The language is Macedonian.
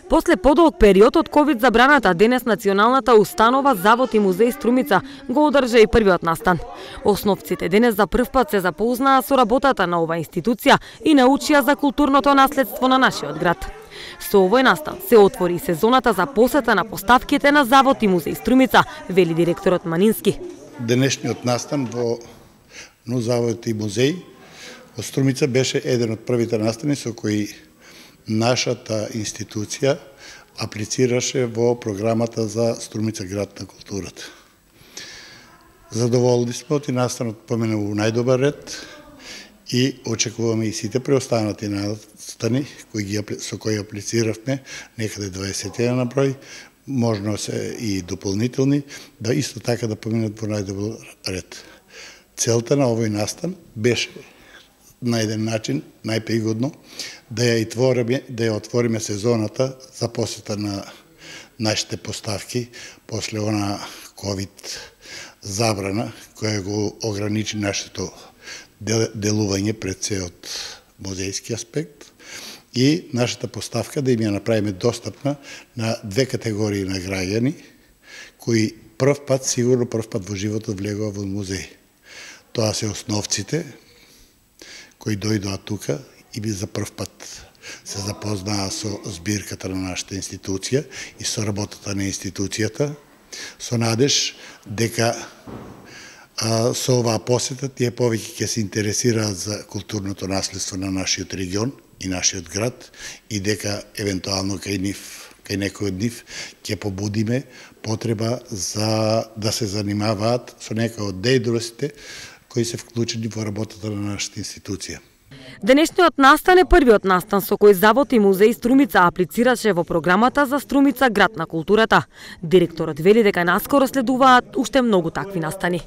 После подолг период од ковид забраната, денес националната установа Завод и музеј Струмица го одржа и првиот настан. Основците денес за прв пат се запознаа со работата на оваа институција и научија за културното наследство на нашиот град. Со овој настан се отвори сезоната за посета на поставките на Завод и музеј Струмица, вели директорот Манински. Денешниот настан во Завод и музеј во Струмица беше еден од првите настани со кои нашата институција аплицираше во програмата за Струмица град на културата. Задоволни сме од настанот помина во најдобар ред и очекуваме и сите преостанати настани со кои аплициравме, некаде 20 на број, можно се и дополнителни, да исто така да поминат во најдобар ред. Целта на овој настан беше на еден начин најпригодно да ја отвориме сезоната за посета на нашите поставки после она ковид забрана која го ограничи нашето делување пред се од музејски аспект и нашата поставка да им ја направиме достапна на две категории на граѓани кои сигурно прв пат во животот влегува во музеј. Тоа се основците кои дојдоа тука и би за прв пат се запознаа со збирката на нашата институција и со работата на институцијата, со надеж дека со оваа посета тие повеќе ќе се интересираат за културното наследство на нашиот регион и нашиот град и дека евентуално кај некој од нив ќе побудиме потреба за да се занимаваат со некои од дејностите кои се вклучени во работата на нашата институција. Денешниот настан е првиот настан со кој Завод и музеј Струмица аплицираше во програмата за Струмица град на културата. Директорот вели дека наскоро следуваат уште многу такви настани.